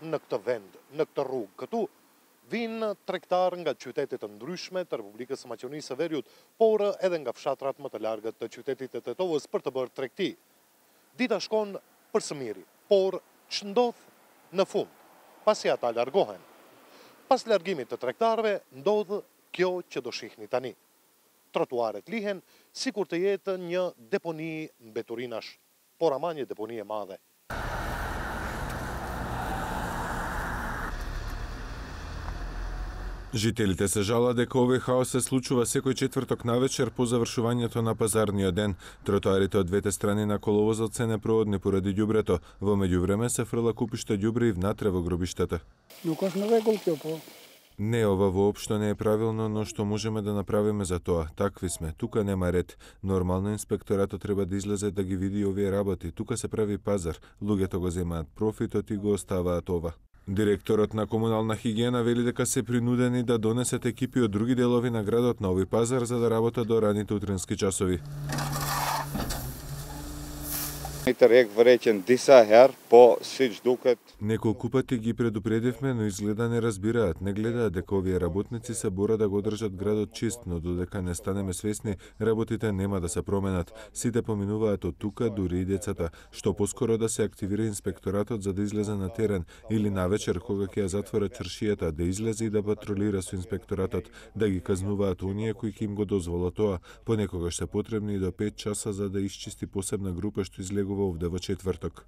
në këtë vend, në këtë rrugë. Këtu vinë tregtarë nga qytetet të ndryshme të Republikës së Maqedonisë së Veriut, por edhe nga fshatrat më të largët të qytetit të Tetovës për të bërë tregti. Dita shkon për së miri, por ç'ndodh në fund, pasi ata largohen. Pas largimit të tregtarëve ndodh kjo që do shihni tani. Trotuaret lihen sikur të jetë një deponi mbeturinash, por ama një deponi e madhe. Жителите се жала дека овој хаос се случува секој четврток навечер по завршувањето на пазарниот ден. Тротоарите од двете страни на коловозот се непроодни поради ѓубрето. Во меѓувреме се фрла купиште ѓубре и внатре во гробиштата. Не, ова воопшто не е правилно, но што можеме да направиме за тоа? Такви сме, тука нема ред. Нормално инспекторатот треба да излезе да ги види овие работи. Тука се прави пазар, луѓето го земаат профитот и го оставаат ова. Директорот на комунална хигиена вели дека се принудени да донесат екипи од други делови на градот на овој пазар за да работат до раните утрински часови. Неколку пати ги предупредивме, но изгледа не разбираат. Не гледаат дека овие работници се борат да го одржат градот чист, но додека не станеме свесни, работите нема да се променат. Сите поминуваат од тука, дури и децата. Што поскоро да се активира инспекторатот за да излезе на терен или навечер кога ќе ја затворат чаршијата, да излезе и да патрулира со инспекторатот, да ги казнуваат оние кои ќе им го дозволат тоа. Понекогаш се потребни и до 5 часа за да исчисти посебна група што излегува овде во четврток.